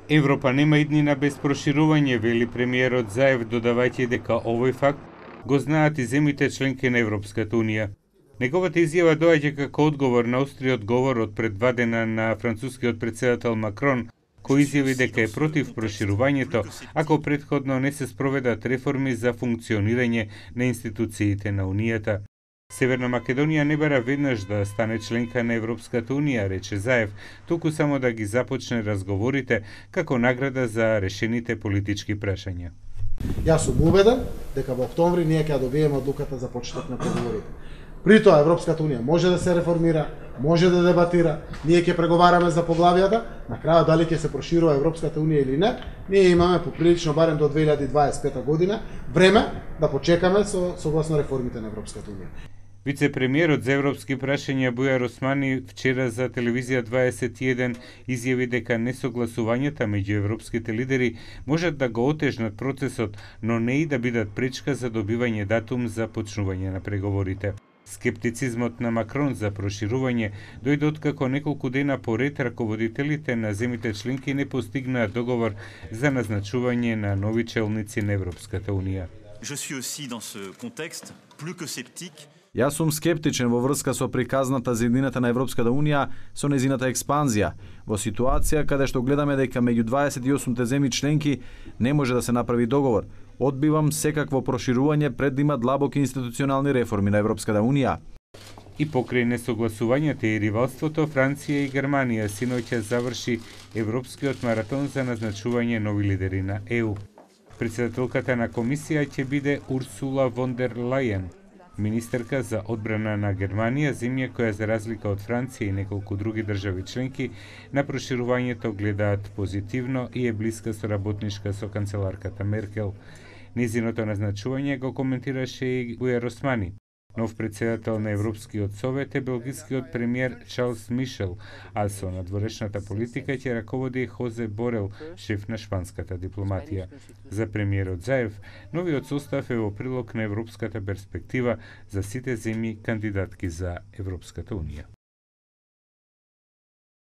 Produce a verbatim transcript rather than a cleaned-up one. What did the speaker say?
Европа нема иднина без проширување, вели премиерот Заев, додавајќи дека овој факт го знаат и земите членки на Европската унија. Неговата изјава доаѓа како одговор на остриот говор од пред два дена на францускиот претседател Макрон, кој изјави дека е против проширувањето ако претходно не се спроведат реформи за функционирање на институциите на Унијата. Северна Македонија не бара веднаш да стане членка на Европската унија, рече Заев, туку само да ги започне разговорите како награда за решените политички прашања. Јас сум убеден дека во октомври ние ќе добиеме одлуката за почеток на преговорите. При тоа Европската унија може да се реформира, може да дебатира, ние ќе преговараме за поглавијата, на крајот дали ќе се проширува Европската унија или не, ние имаме поприлично барем до две илјади дваесет и пета година време да почекаме со согласно реформите на Европската унија. Вице-премиерот за европски прашања Бујар Османи вчера за телевизија дваесет и еден изјави дека несогласувањата меѓу европските лидери можат да го отежнат процесот, но не и да бидат пречка за добивање датум за почнување на преговорите. Скептицизмот на Макрон за проширување дојде откако неколку дена поред раководителите на земите членки не постигнаа договор за назначување на нови челници на Европската унија. Je suis aussi dans ce contexte plus que sceptique. Јас сум скептичен во врска со приказната за едината на Европската унија со незината експанзија, во ситуација каде што гледаме дека меѓу дваесет и осум земји членки не може да се направи договор. Одбивам секакво проширување пред да има длабоки институционални реформи на Европската унија. И покрај несогласувањата и ривалството, Франција и Германија синоќа заврши европскиот маратон за назначување нови лидери на Е У. Председателката на комисија ќе биде Урсула фон дер Лајен, министерка за одбрана на Германија, земја која за разлика од Франција и неколку други држави членки на проширувањето гледаат позитивно и е блиска соработничка со канцеларката Меркел. Незиното назначување го коментираше и Бујар Османи. Нов председател на Европскиот совет е белгискиот премиер Чарлс Мишел, а со надворешната политика ќе раководи Хозе Борел, шеф на шпанската дипломатија. За премиерот Заев, новиот состав е во прилог на европската перспектива за сите земји кандидатки за Европската унија.